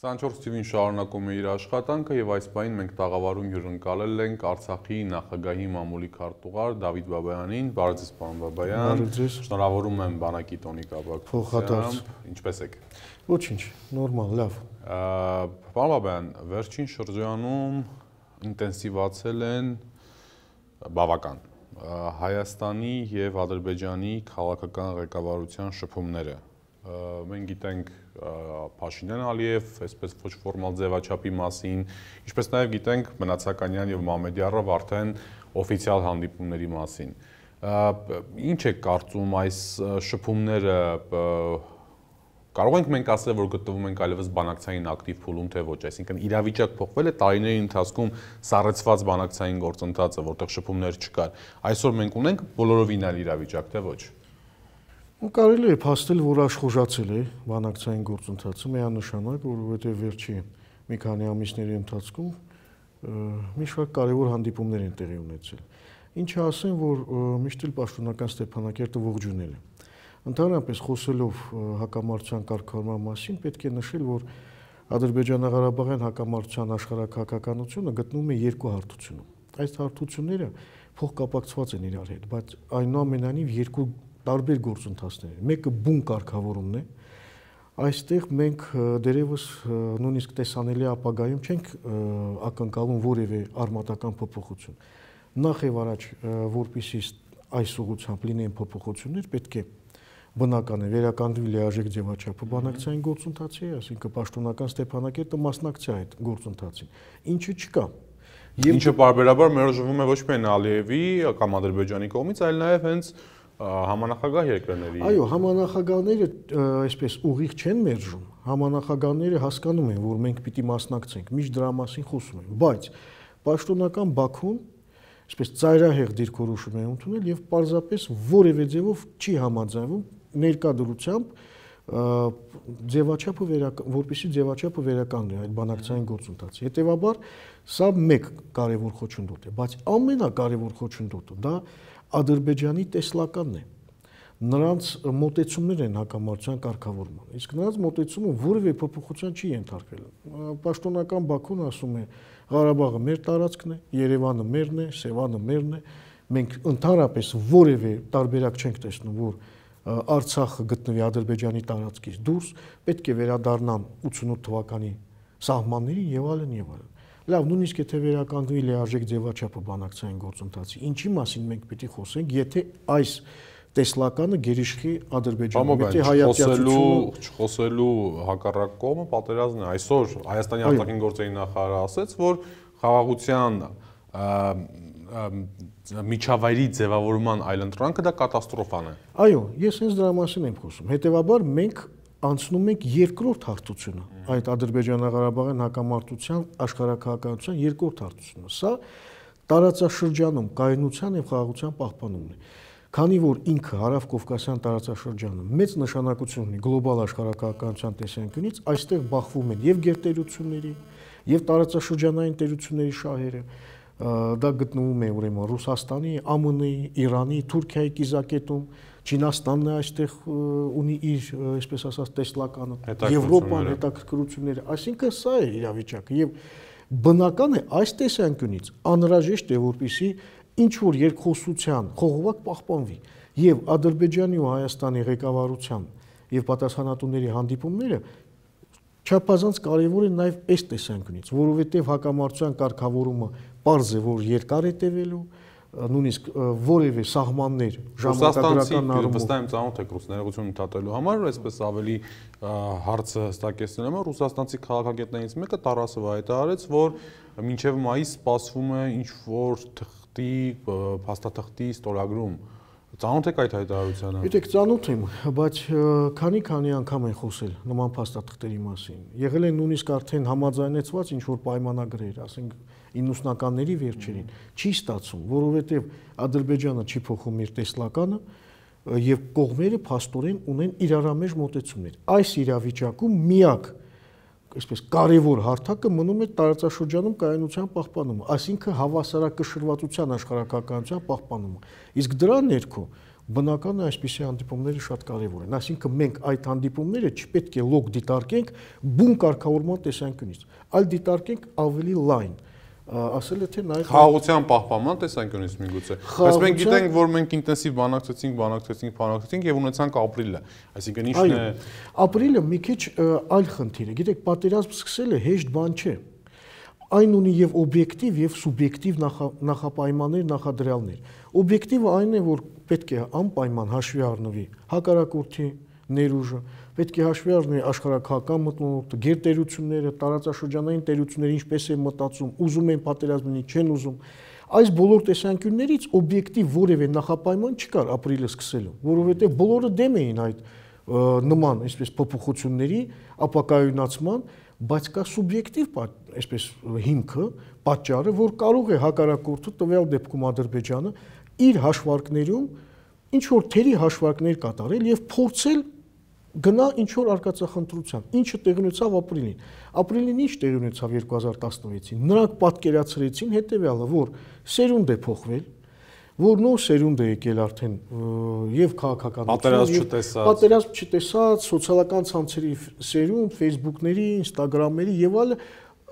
24 թվին շարունակում է իր աշխատանքը եւ այս պահին մենք տաղավարում հյուրընկալել ենք Արցախի նախագահի մամուլի քարտուղար Դավիթ Բաբայանին։ Բարև ձեզ, պարոն Բաբայան։ Շնորհավորում եմ բանակի տոնի կապակցությամբ։ Ինչպե՞ս եք։ Ոչինչ, նորմալ, լավ։ Պարոն Բաբայան, վերջին շրջանում ինտենսիվացել են բավական Հայաստանի եւ Ադրբեջանի քաղաքական ղեկավարության շփումները։ Մենք գիտենք Փաշինյան Ալիև, այսպես ոչ ֆորմալ ձևաչափի մասին, ինչպես նաև գիտենք Մնացականյան եւ Մամեդյարով արդեն օֆիցիալ հանդիպումների մասին։ Ինչ է կարծում այս շփումները, կարող ենք մենք ասել, որ գտնվում ենք այլևս բանակցային ակտիվ փուլում, թե ոչ, այսինքն իրավիճակ փոխվել է տարիների ընթացքում սառեցված բանակցային գործընթացը, որտեղ շփումներ չկար։ Այսօր մենք ունենք բոլորովին այլ իրավիճակ, թե ոչ։ Կարելի է փաստել, որ աշխուժացել է բանակցային գործընթացը, միանշանակ, որովհետև վերջի մի քանի ամիսների ընթացքում մի շարք կարևոր հանդիպումներ են տեղի ունեցել։ Ինչը ասեմ, որ միշտ էլ պաշտոնական Ստեփանակերտը ողջունել է։ Ընդհանրապես խոսելով հակամարտության կարգավորման մասին, պետք է նշել, որ Ադրբեջանա-Ղարաբաղյան հակամարտության աշխարհաքաղաքականությունը գտնվում է երկու հարթությունում։ Այս հարթությունները փոխկապակցված են իրար հետ, բայց այնուամենայնիվ երկու տարբեր գործընթացներ են։ Մեկը բուն կարգավորումն է։ Այստեղ մենք դերևս նույնիսկ տեսանելի ապագայում չենք ակնկալում որևէ արմատական փոփոխություն։ Նախ եւ առաջ, որպեսզի այս ուղղությամբ լինեն փոփոխություններ, պետք է բնական է վերականգնվի լիարժեք ձևաչափը բանակցային գործընթացի, այսինքն պաշտոնական Ստեփանակերտը մասնակցի այդ գործընթացին։ Ինչը չկա։ Ինչը բարբերաբար մերժվում է ոչ միայն Ալիևի կամ Ադրբեջանի կողմից, այլ նաեւ հենց համանախագահ երկրների։ Այո, համանախագահները այսպես ուղիղ չեն մերժում։ Համանախագահները հասկանում են, որ մենք պիտի մասնակցենք, միշտ դրա մասին խոսում են, բայց պաշտոնական Բաքուն այսպես ծայրահեղ դիրքորոշում է ընդունել եւ պարզապես որևէ ձևով չի համաձայնվում ներկա դրությամբ որպեսզի ձևաչափը վերականգնի այդ բանակցային գործընթացը։ Հետևաբար սա մեկ կարևոր խոչընդոտ է, բայց ամենակարևոր խոչընդոտը դա Ադրբեջանի տեսլականն է։ Նրանց մոտեցումներ են հակամարտության կարգավորման։ Իսկ նրանց մոտեցումը որևէ փոփոխության չի ենթարկվել։ Պաշտոնական Բաքուն ասում է Ղարաբաղը մեր տարածքն է, Երևանը մերն է, Սևանը մերն է։ Մենք ընդհանրապես որևէ տարբերակ չենք տեսնում, որ Արցախը գտնվի Ադրբեջանի տարածքից դուրս, պետք է վերադառնան 88 թվականի սահմաններին եւ այլն եւ այլն։ Լավ, նույնիսկ եթե վերականգնվի լիարժեք ձևաչափը բանակցային գործընթացի, ինչի մասին մենք պիտի խոսենք, եթե այս տեսլականը գերիշխի Ադրբեջանում, եթե հայատյացությունը չխոսելու հակառակ կողմը պատերազմն է։ Այսօր Հայաստանի արտաքին գործերի նախարարը ասաց, որ խաղաղության միջավայրի ձևավորման այլընտրանքը դա կատաստրոֆան է։ Այո, ես հենց դրա մասին եմ խոսում։ Հետևաբար մենք անցնում ենք երկրորդ հարթությունը, այդ Ադրբեջանա-Ղարաբաղյան հակամարտության աշխարհաքաղաքականության երկրորդ հարթությունը։ Սա տարածաշրջանում կայունության եւ խաղաղության պահպանումն է։ Քանի որ ինքը Հարավ-Կովկասյան տարածաշրջանը մեծ նշանակություն ունի գլոբալ աշխարհաքաղաքականության տեսանկյունից, այստեղ բախվում են եւ գերտերությունների, եւ տարածաշրջանային տերությունների շահերը։ Դա գտնվում է ուրեմն Ռուսաստանի, ԱՄՆ-ի, Իրանի, Թուրքիայի կիզակետում, Չինաստանն է այստեղ ունի իր, այսպես ասած, տեսլականը, Եվրոպան հետաքրքրությունները, այսինքն սա է իրավիճակը եւ բնական է այս տեսանկյունից անհրաժեշտ է որպեսզի ինչ որ երկխոսության խողովակ պահպանվի եւ Ադրբեջանի ու Հայաստանի ղեկավարության եւ պատասխանատուների հանդիպումները չափազանց կարևոր են նաեւ այս տեսանկյունից, որովհետեւ հակամարտության կարգավորումը պարզ է, որ երկար է տևելու, նույնիսկ որևէ սահմաններ ժամանակագրական առումով վստահ եմ ծանոթ եք ռուս ներողություն ընդհատելու համար, այսպես ավելի հարցը հստակեցնելու համար ռուսաստանցի քաղաքագետներից մեկը Տարասովը հայտարարեց, որ մինչև մայիս սպասվում է ինչ որ թղթի, փաստաթղթի ստորագրում։ Ծանոթ եք այդ հայտարարությանը։ Գիտեք, ծանոթ եմ, բայց քանի անգամ են խոսել նման փաստաթղթերի մասին։ Եղել են նույնիսկ արդեն համաձայնեցված ինչ որ պայմանագրեր, ասենք 90-ականների վերջերին, չի ստացվում, որովհետև Ադրբեջանը չի փոխում իր տեսլականը եւ կողմերը փաստորեն ունեն իրարամեջ մոտեցումներ։ Այս իրավիճակում միակ այսպես կարևոր հարթակը մնում է տարածաշրջանում կայունության պահպանումը, այսինքն հավասարակշռվածության աշխարհաքաղաքականության պահպանումը։ Իսկ դրա ներքո բնական է այսպիսի հանդիպումները շատ կարևոր են։ Այսինքն մենք այդ հանդիպումները չպետք է լոկ դիտարկենք բուն կարգավորման տեսանկյունից, այլ դիտարկենք ավելի լայն, ասել է թե նաև խաղաղության պահպանման տեսանկյունից միգուցե։ Բայց մենք գիտենք, որ մենք ինտենսիվ բանակցեցինք եւ ունեցանք ապրիլը։ Այսինքն ի՞նչն է ապրիլը մի քիչ այլ խնդիր է։ Գիտեք, պատերազմ սկսելը հեշտ բան չէ։ Այն ունի եւ օբյեկտիվ եւ սուբյեկտիվ նախապայմաններ, նախադրյալներ։ Օբյեկտիվը այն է, որ պետք է անպայման հաշվի առնվի հակառակորդի ներուժը, պետք է հաշվի առնվի աշխարհակահական մթնոլորտը, գերտերությունները, տարածաշրջանային տերությունները ինչպես են մտածում, ուզում են պատերազմի, չեն ուզում։ Այս բոլոր տեսանկյուններից օբյեկտիվ որևէ նախապայման չկար ապրիլը սկսելու, որովհետեւ բոլորը դեմ էին այդ նման այսպես փոփոխությունների ապակայունացման, բայց կա սուբյեկտիվ այսպես հիմքը, պատճառը, որ կարող է հակառակորդը տվյալ դեպքում Ադրբեջանը իր հաշվարկներում ինչ որ թերի հաշվարկներ կատարել եւ փորձել գնա ինչ որ արկածախնդրության, ինչը տեղի ունեցավ ապրիլին։ Ապրիլին ինչ տեղի ունեցավ 2016-ին։ Նրանք պատկերացրեցին հետեւյալը, որ սերունդ է փոխվել, որ նոր սերունդ է եկել արդեն եւ քաղաքականություն, պատերազմ չտեսած, սոցիալական ցանցերի սերունդ, Facebook-ների, Instagram-ների եւ այլը,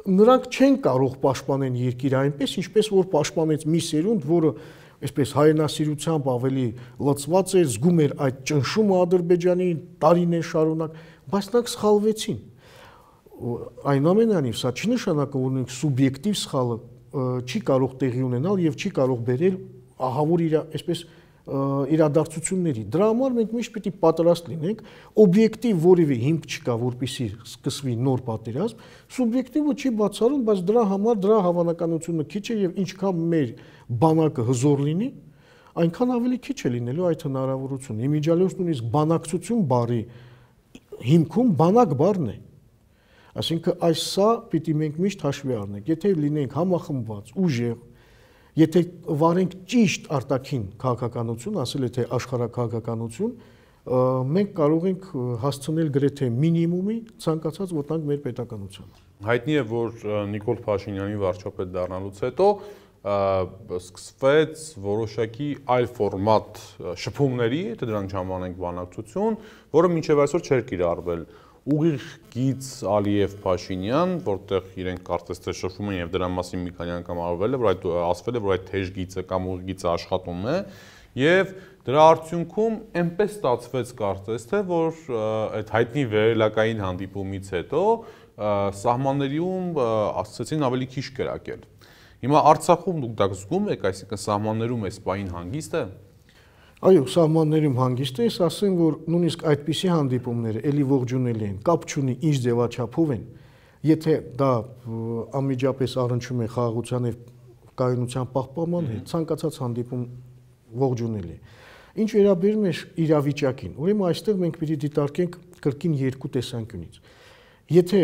նրանք չեն կարող պաշտպանել երկիրը այնպես, ինչպես որ պաշտպանեց մի սերունդ, որը այսպես հայրենասիրությամբ ավելի լծված էր, զգում էր այդ ճնշումը Ադրբեջանի տարիներ շարունակ, բայց նրանք սխալվեցին։ Այնուամենայնիվ սա չի նշանակում, որ նույնիսկ սուբյեկտիվ սխալը չի կարող տեղի ունենալ եւ չի կարող բերել ահավոր այսպես իրադարձությունների։ Դրա համար մենք միշտ պիտի պատրաստ լինենք, օբյեկտիվ որևէ հիմք չկա, որպեսզի սկսվի նոր պատերազմ, սուբյեկտիվը չի բացառում, բայց դրա համար դրա հավանականությունը քիչ է եւ ինչքան մեր բանակը հզոր լինի, այնքան ավելի քիչ է լինելու այդ հնարավորությունը։ Իմիջիալոց նույնիսկ բանակցություն բառի հիմքում բանակ բառն է։ Այսինքն այս սա պիտի մենք միշտ հաշվի առնենք։ Եթե լինենք համախմբված, ուժեղ, եթե վարենք ճիշտ արտաքին քաղաքականություն, ասել է թե աշխարհակահաղականություն, մենք կարող ենք հասցնել գրեթե մինիմումի ցանկացած վտանգ մեր պետականությանը։ Հայտնի է, որ Նիկոլ Փաշինյանի վարչապետ դառնալուց հետո սկսվեց որոշակի այլ ֆորմատ շփումների, եթե դրանք չանվանենք բանակցություն, որը մինչև այսօր չէր կիրառվել։ Ուղիղ գիծ Ալիև-Փաշինյան, որտեղ իրենք կարծես թե շփվում են եւ դրա մասին մի քանի անգամ ասվել է, որ այդ ասվել է, որ այդ թեժ գիծը կամ ուղիղ գիծը աշխատում է եւ դրա արդյունքում այնպես ստացվեց կարծես թե, որ այդ հայտնի վերելակային հանդիպումից հետո սահմաններում ասացին ավելի քիչ կրակել։ Հիմա Արցախում դուք դա զգում եք, այսինքն սահմաններում այս բային հանգիստ է։ Այո, սահմաններում հանգիստ է, ես ասեմ, որ նույնիսկ այդպիսի հանդիպումները էլի ողջունելի են, կապ չունի ինչ ձևաչափով են, եթե դա անմիջապես առնչվում է խաղաղության եւ կայունության պահպանման հետ, ցանկացած հանդիպում ողջունելի է։ Ինչ վերաբերում է իրավիճակին, ուրեմն այստեղ մենք պիտի դիտարկենք կրկին երկու տեսանկյունից։ Եթե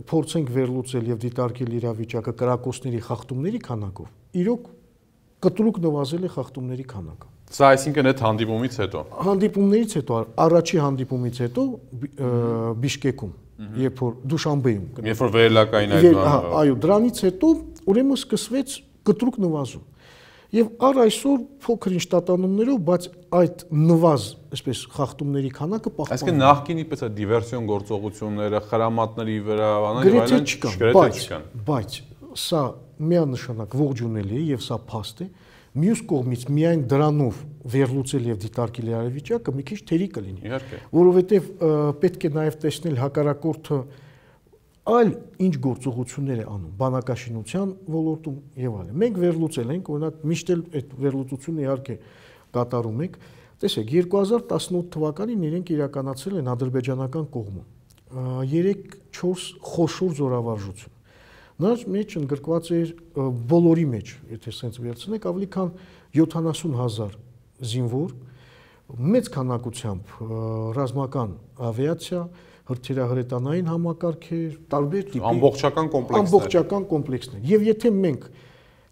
փորձենք վերլուծել եւ դիտարկել իրավիճակը կրակոցների խախտումների քանակով, իրոք կտրուկ նվազել է խախտումների քանակը։ Սա այսինքն այդ հանդիպումից հետո։ Հանդիպումներից հետո, առաջի հանդիպումից հետո Բիշկեկում, երբ որ Դուշանբեում, երբ որ վերելակային այդ բանը։ Այո, դրանից հետո ուրեմն սկսվեց կտրուկ նվազում։ Եվ առ այսօր փոքր-ինչ տատանումներով, բայց այդ նվազ, այսպես խախտումների քանակը պահպանվում է։ Այսինքն նախկինի պես է դիվերսիոն գործողությունները, խրամատների վրա, գրեթե չկան, բայց սա միանշանակ ողջունելի է եւ սա փաստ է։ Մյուս կողմից միայն դրանով վերլուծել եւ դիտարկել իրավիճակը մի քիչ թերի կլինի։ Իհարկե։ Որովհետեւ պետք է նաեւ տեսնել հակառակորդը այլ ինչ գործողություններ է անում բանակաշինության ոլորտում եւ այլն։ Մենք վերլուծել ենք, օրինակ միշտ էլ այդ վերլուծությունը իհարկե կատարում ենք։ Տեսեք, 2018 թվականին իրենք իրականացրել են ադրբեջանական կողմում 3-4 խոշոր զորավարժություն։ Նրանց մեջ ընդգրկված էր բոլորի մեջ, եթե sense վերցնենք, ավելի քան 70,000 զինվոր, մեծ քանակությամբ ռազմական ավիացիա, հրթիռահրետանային համակարգեր, տարբեր տիպի ամբողջական կոմպլեքսներ։ Եվ եթե մենք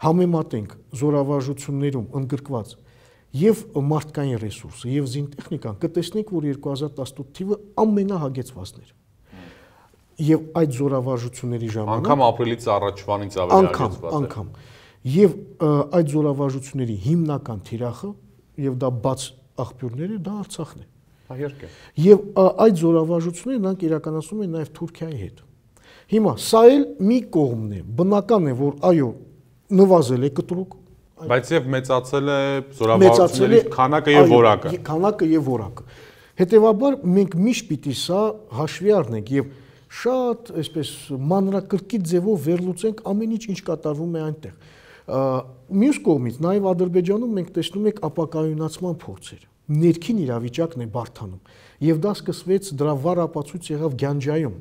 համեմատենք զորավարժություններում ընդգրկված եւ մարդկային ռեսուրսը եւ զինտեխնիկան, կտեսնենք, որ 2018 թիվը ամենահագեցվածն էր։ Եվ այդ զորավարժությունների ժամանակ անգամ ապրիլից առաջվանից ավելի հագեցված է։ Անգամ եւ այդ զորավարժությունների հիմնական թիրախը եւ դա բաց աղբյուրները դա Արցախն է։ Իհարկե։ Եվ այդ զորավարժությունները նրանք իրականացնում են նաև Թուրքիայի հետ։ Հիմա սա էլ մի կողմն է, բնական է, որ այո, նվազել է կտրուկ, բայց եւ մեծացել է զորավարությունների քանակը եւ որակը։ Քանակը եւ որակը։ Հետևաբար մենք միշտ պիտի սա հաշվի առնենք եւ շատ այսպես մանրակրկիտ ձևով վերլուծենք ամեն ինչ կատարվում է այնտեղ։ Մյուս կողմից նաև Ադրբեջանում մենք տեսնում ենք ապակայունացման փորձեր։ Ներքին իրավիճակն է բարդանում եւ դա սկսվեց դրա վառ ապացույց եղավ Գյանջայում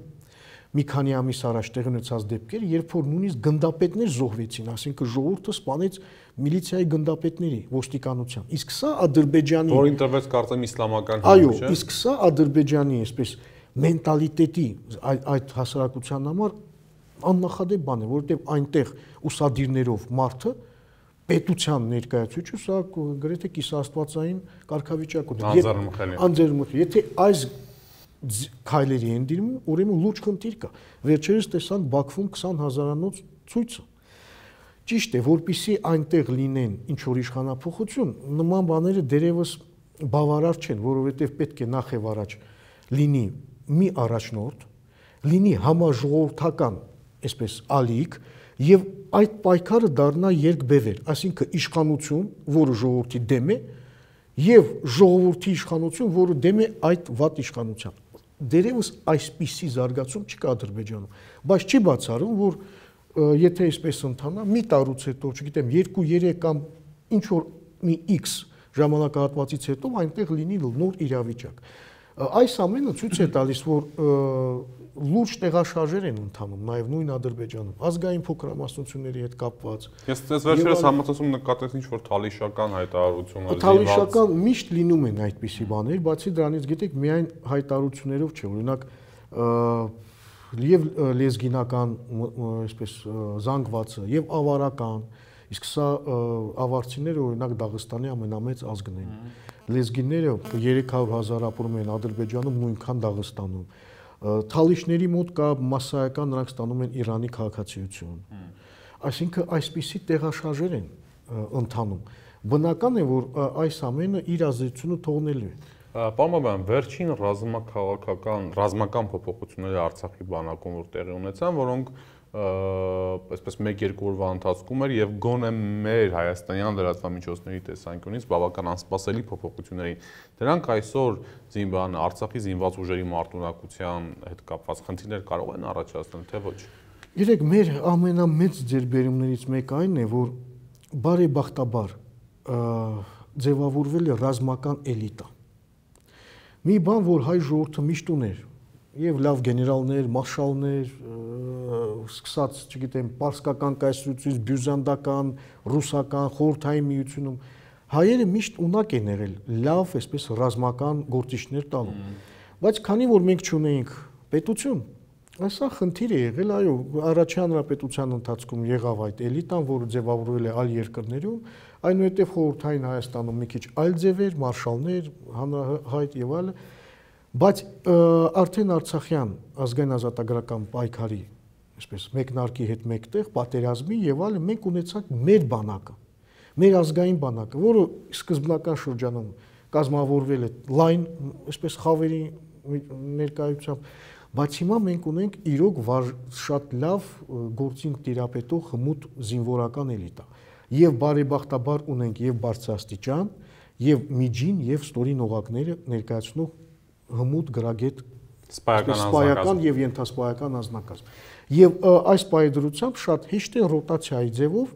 մի քանի ամիս առաջ տեղի ունեցած դեպքեր, երբ որ նույնիսկ գնդապետներ զոհվեցին, ասինքն ժողովուրդը սպանեց միլիցիայի գնդապետների, ոստիկանության։ Իսկ սա Ադրբեջանի որին տրվեց կարծեմ իսլամական այո, իսկ սա Ադրբեջանի այսպես մենտալիտետի այդ հասարակության համար աննախադեպ բան է, որովհետև այնտեղ ուսադիրներով մարդը պետության ներկայացուցիչ սա գրեթե կիսաստվածային կարգավիճակ ունի։ Անձեռնմխելի։ Եթե այս քայլերի են դիմում, ուրեմն լուրջ խնդիր կա։ Վերջերս տեսանք Բաքվում 20,000-անոց ցույցը։ Ճիշտ է, որpիսի այնտեղ լինեն ինչ որ իշխանափոխություն, նման բաները դերևս բավարար չեն, որովհետև պետք է նախ եւ առաջ լինի մի առաջնորդ, լինի համաժողովրդական, այսպես ալիք, եւ այդ պայքարը դառնա երկբևեր, այսինքն իշխանություն, որը ժողովրդի դեմ է, եւ ժողովրդի իշխանություն, որը դեմ է այդ վատ իշխանության։ Դերևս այսպիսի զարգացում չկա Ադրբեջանում, բայց չի բացառում, որ եթե այսպես ընթանա, մի տարուց հետո, չգիտեմ, 2-3 կամ ինչ որ մի X ժամանակահատվածից հետո այնտեղ լինի նոր իրավիճակ։ Այս ամենը ցույց է տալիս, որ լուրջ տեղաշարժեր են ընթանում նաև նույն Ադրբեջանում, ազգային փոքրամասնությունների հետ կապված։ Ես վերջերս համացանցում նկատեցի ինչ-որ թալիշական հայտարարություններ։ Թալիշական միշտ լինում են այդպիսի բաներ, բացի դրանից գիտեք, միայն հայտարարություններով չէ, օրինակ եւ լեզգինական, այսպես զանգվածը եւ ավարական, իսկ սա ավարցիները օրինակ Դաղստանի ամենամեծ ազգն են։ Լեզգիները 300,000 ապրում են Ադրբեջանում, նույնքան Դաղստանում։ Թալիշների մոտ կա մասսայական, նրանք ստանում են Իրանի քաղաքացիություն։ Այսինքն այսպիսի տեղաշարժեր են ընթանում։ Բնական է, որ այս ամենը իր ազդեցությունը թողնելու է։ Պարոն Բաբայան, վերջին ռազմական փոփոխությունները Արցախի բանակում որ տեղի ունեցան, որոնք այսպես 1-2 օրվա ընթացքում էր եւ գոնե մեր հայաստանյան լրատվամիջոցների տեսանկյունից բավական անսպասելի փոփոխություններ էին։ Դրանք այսօր Արցախի զինված ուժերի մարտունակության հետ կապված խնդիրներ կարող են առաջացնել, թե ոչ։ Գիտեք, մեր ամենամեծ ձեռքբերումներից մեկը այն է, որ բարեբախտաբար ձևավորվել է ռազմական էլիտա։ Մի բան, որ հայ ժողովուրդը միշտ ուներ, եւ լավ գեներալներ, մարշալներ, սկսած, չգիտեմ, պարսկական կայսրությունից, բյուզանդական, ռուսական, խորհրդային միությունում հայերը միշտ ունակ են եղել լավ, այսպես ռազմական գործիչներ տալու։ Բայց քանի որ մենք չունեինք պետություն, այսա խնդիր է եղել, այո, առաջին հանրապետության ընթացքում եղավ այդ էլիտան, որը ձևավորվել է այլ երկրներում, այնուհետև խորհրդային Հայաստանում մի քիչ այլ ձևեր, մարշալներ, հանրահայտ եւ այլն, բայց արդեն Արցախյան ազգային ազատագրական պայքարի, այսպես մեկնարկի հետ մեկտեղ պատերազմի եւ այլն մենք ունեցանք մեր բանակը, մեր ազգային բանակը, որը սկզբնական շրջանում կազմավորվել է լայն, այսպես խավերի ներկայությամբ, բայց հիմա մենք ունենք իրոք շատ լավ գործին տիրապետող հմուտ զինվորական էլիտա եւ բարեբախտաբար ունենք եւ բարձրաստիճան եւ միջին եւ ստորին օղակները ներկայացնող հմուտ գրագետ սպայական եւ ենթասպայական անձնակազմ եւ այս պայդրությամբ շատ հեշտ է ռոտացիայի ձևով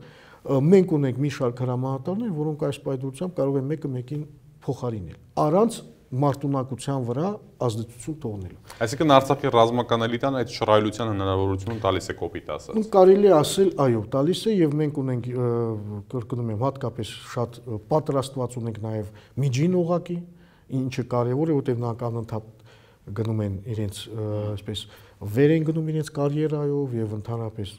մենք ունենք մի շարք հրամանատարներ, որոնք այս պայդրությամբ կարող են մեկը մեկին փոխարինել առանց մարտունակության վրա ազդեցություն թողնելու։ Այսինքն Արցախի ռազմական էլիտան այդ շռայլության հնարավորությունը տալիս է կոպիտ ասած։ Կարելի է ասել, այո, տալիս է եւ մենք ունենք կրկնում եմ հատկապես շատ պատրաստված ունենք նաեւ միջին օղակի, ինչը կարեւոր է, որտեղ նրանք անընդհատ գնում են իրենց այսպես վեր են գնում իրենց կարիերայով եւ ընդհանրապես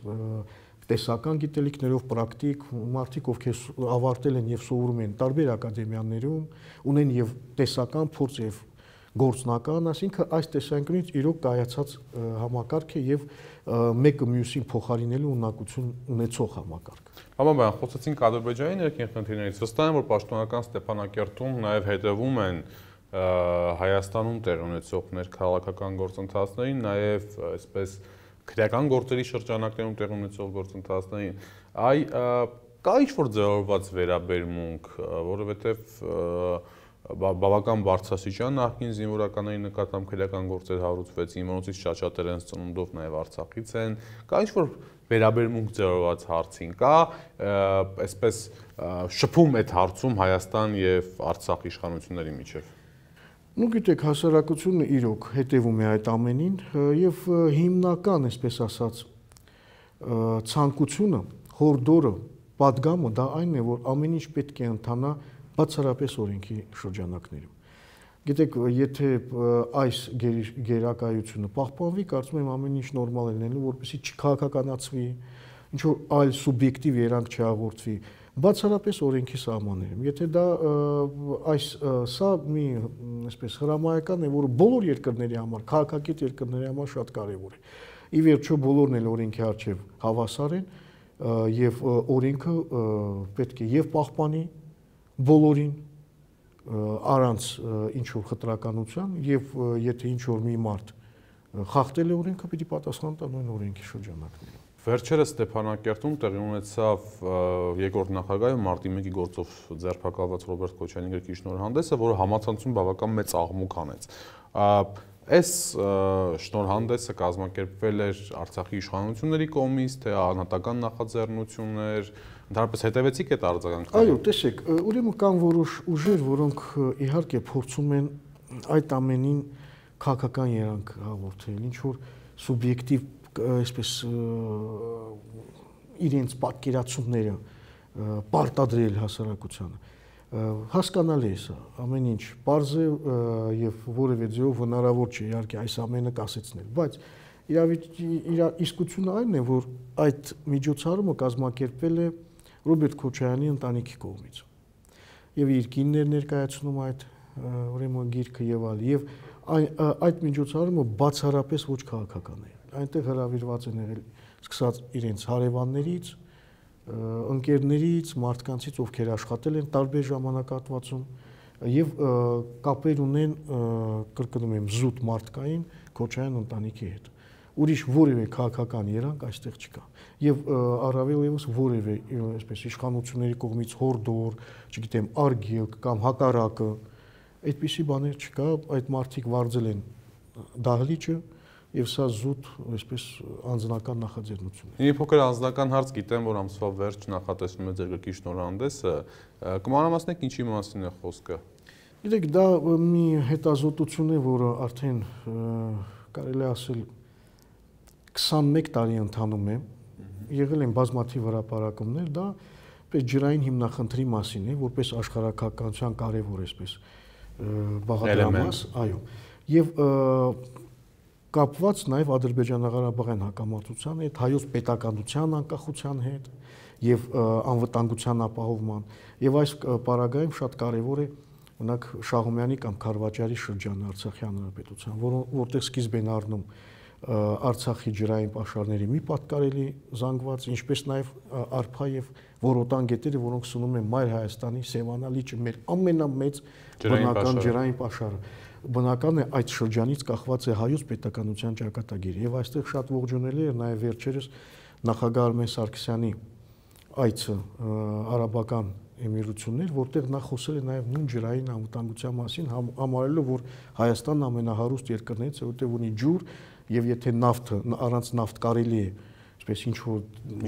տեսական գիտելիքներով, պրակտիկ մարդիկ, ովքեր ավարտել են եւ սովորում են տարբեր ակադեմիաներում, ունեն եւ տեսական փորձ եւ գործնական, այսինքն այս տեսանկյունից իրոք կայացած համակարգ է եւ մեկը մյուսին փոխարինելու ունակություն ունեցող համակարգ։ Պարոն, խոսեցինք Ադրբեջանի ներքին խնդիրներից, վստահ եմ, որ պաշտոնական Ստեփանակերտում նաեւ հետևում են Հայաստանում տեղի ունեցող ներքաղաքական գործընթացներին, նաեւ այսպես քրեական գործերի շրջանակներում տեղի ունեցող գործընթացներին, կա ինչ-որ ձևավորված վերաբերմունք, որովհետեւ բավական բարձրաստիճան նախկին զինվորականների նկատմամբ քրեական գործեր հարուցվեցին, որոնցից շատ-շատերը են ծնունդով նաեւ Արցախից են, կա ինչ-որ վերաբերմունք ձևավորված հարցին, կա այսպես շփում այդ հարցում Հայաստան եւ Արցախ իշխանությունների միջեւ։ Ну գիտեք, հասարակությունը իրոք հետևում է այդ ամենին եւ հիմնական, այսպես ասած, ցանկությունը, հորդորը, պատգամը դա այն է, որ ամեն ինչ պետք է ընթանա բացառապես օրենքի շրջանակներում։ Գիտեք, եթե այս գերակայությունը պահպանվի, կարծում եմ ամեն ինչ նորմալ է լինելու, որպեսզի չքաղաքականացվի, ինչ որ այլ սուբյեկտիվ երանգ չհաղորդվի, բացառապես օրենքի սահմաններում։ Եթե դա սա մի այսպես հրամայական է, որը բոլոր երկրների համար, քաղաքակիրթ երկրների համար շատ կարևոր է։ Ի վերջո բոլորն էլ օրենքի առջև հավասար են եւ օրենքը պետք է եւ պահպանի բոլորին առանց ինչ որ խտրականության եւ եթե ինչ որ մի մարդ խախտել է օրենքը, պիտի պատասխան տա նույն օրենքի շրջանակներում։ Վերջերս Ստեփանակերտում տեղի ունեցավ երկրորդ նախագահի մարտի 1-ի գործով ձերբակալված Ռոբերտ Քոչարյանի գրքի շնորհանդեսը, որը համացանցում բավական մեծ աղմուկ հանեց։ Այս շնորհանդեսը կազմակերպվել էր Արցախի իշխանությունների կողմից, թե անհատական նախաձեռնություններ, ընդհանրապես հետևեցիք այդ արձագանքներին։ Այո, տեսեք, ուրեմն կան որոշ ուժեր, որոնք իհարկե փորձում են այդ ամենին քաղաքական երանգ հաղորդել, ինչ որ սուբյեկտիվ այսպես իրենց պատկերացումները պարտադրել հասարակությանը։ Հասկանալի է սա, ամեն ինչ պարզ է եւ որևէ ձեւով հնարավոր չէ իհարկե այս ամենը կասեցնել, բայց իսկությունը այն է, որ այդ միջոցառումը կազմակերպվել է Ռոբերտ Քոչարյանի ընտանիքի կողմից։ Եվ իր կինն էր ներկայացնում այդ ուրեմն գիրքը եւ այլ, եւ այդ միջոցառումը բացառապես ոչ քաղաքական է։ Այնտեղ հրավիրված են եղել սկսած իրենց հարևաններից, ընկերներից, մարդկանցից, ովքեր աշխատել են տարբեր ժամանակահատվածում եւ կապեր ունեն, կրկնում եմ, զուտ մարդկային Քոչարյան ընտանիքի հետ։ Ուրիշ որևէ քաղաքական երանգ այստեղ չկա։ Եվ առավել եւս որևէ այսպես իշխանությունների կողմից հորդոր, չգիտեմ, արգելք կամ հակառակը, այդպիսի բաներ չկա, այդ մարդիկ վարձել են դահլիճը եւ սա զուտ այսպես անձնական նախաձեռնություն է։ Մի փոքր անձնական հարց, գիտեմ, որ ամսվա վերջ նախատեսվում է ձեր գրքի շնորհանդեսը, կմանրամասնեք ինչի մասին է խոսքը։ Գիտեք, դա մի հետազոտություն է, որը արդեն կարելի է ասել 21 տարի ընթանում է, եղել են բազմաթիվ հրապարակումներ, դա պես ջրային հիմնախնդրի մասին է, որպես աշխարհակահաղականության կարևոր այսպես բաղադրամաս, այո, եւ կապված նաեւ Ադրբեջանա-Ղարաբաղյան հակամարտության հետ, հայոց պետականության անկախության հետ եւ անվտանգության ապահովման, եւ այս պարագայում շատ կարևոր է օրինակ Շահումյանի կամ Խարվաճարի շրջանը Արցախի հանրապետության, որտեղ սկիզբ են առնում Արցախի ջրային պաշարների մի պատկարելի զանգված, ինչպես նաև Արփա եւ Որոտան գետերը, որոնք սնում են Մայր Հայաստանի Սևանա լիճը, մեր ամենամեծ բնական ջրային պաշարը։ Բնական է այդ շրջանից կախված է հայոց պետականության ճակատագիրը եւ այստեղ շատ ողջունելի է նաև վերջերս նախագահ Արմեն Սարգսյանի այցը արաբական էմիրություններ, որտեղ նա խոսել է նաև նույն ջրային անվտանգության մասին, համարելով, որ Հայաստանն ամենահարուստ երկրներից է, որտեղ ունի ջուր եւ եթե նավթը առանց նավթ կարելի է, այսպես ինչ որ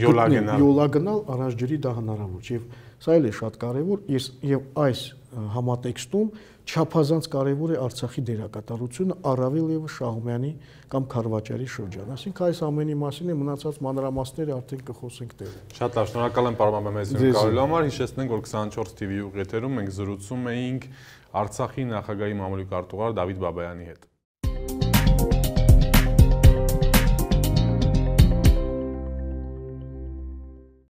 յոլա գնալ, առանց ջրի դա հնարավոր չէ։ Եվ սա էլ է շատ կարեւոր, եւ այս համատեքստում չափազանց կարեւոր է Արցախի դերակատարությունը, առավել եւս Շահումյանի կամ Խարվաճարի շրջան։ Այսինքն այս ամենի մասին է, մնացած մանրամասները արդեն կխոսենք տեղում։ Շատ լավ, շնորհակալ եմ պարոն Մամեդյանի կարելի համար, հիշեցնենք, որ 24 TV ուղիաթերում մենք զրուցում էինք Արցախի նախագահի մամուլի քարտուղար Դավիթ Բաբայանի հետ։